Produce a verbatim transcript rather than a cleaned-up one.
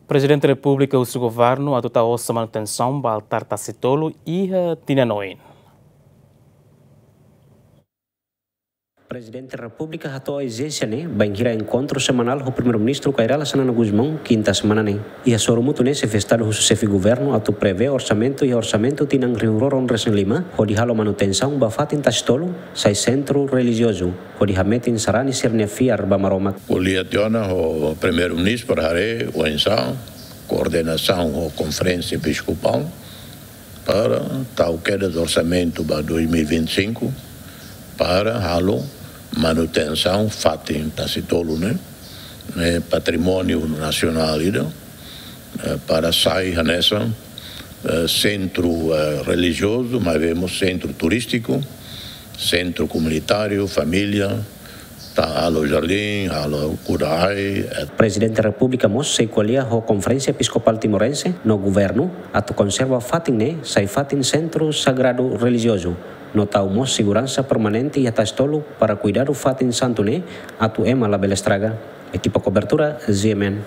Prezidente Repúblika husu governu atu tau osan manutensaun ba altár Tasitolu iha tinan oin. Prezidente Repúblika hato'o ezijénsia ne'e bainhira enkontru semanál ho Primeiru-Ministru Kay Rala Xanana Gusmão, kinta semana ne'e. Iha sorumutu ne'e, Xefe Estadu husu Xefe Governu atu prevee orsamentu iha orsamentu tinan rihun rua ruanulu-resin-lima, hodi halo manutensaun ba fatin Tasitolu sai sentru relijiozu, hodi hametin sarani sira-nia fiar ba Maromak. Ko'alia tiha ona ho Primeiru-Ministru para haree oinsá koordenasaun ho Konferénsia Episkopál para tau kedas orsamentu ba dois mil e vinte e cinco para halo manutensaun fatin Tasitolu ne'e, ne'e patrimóniu nasionál ida, eh, para sai hanesan, eh, sentru, eh, relijiozu, mas vemos sentru turístiku, sentru komunitáriu, família, atu halo jardín, halo kuda ai, et- Prezidente Repúblika mós sei ko'alia ho Konferénsia Episkopál Timorense no governu atu konserva fatin ne'e sai fatin sentru sagradu relijiozu, no tau mós seguransa permanente iha Tasitolu para kuidadu fatin santu ne'e atu ema labele estraga. Ekipa kobertura, G M N.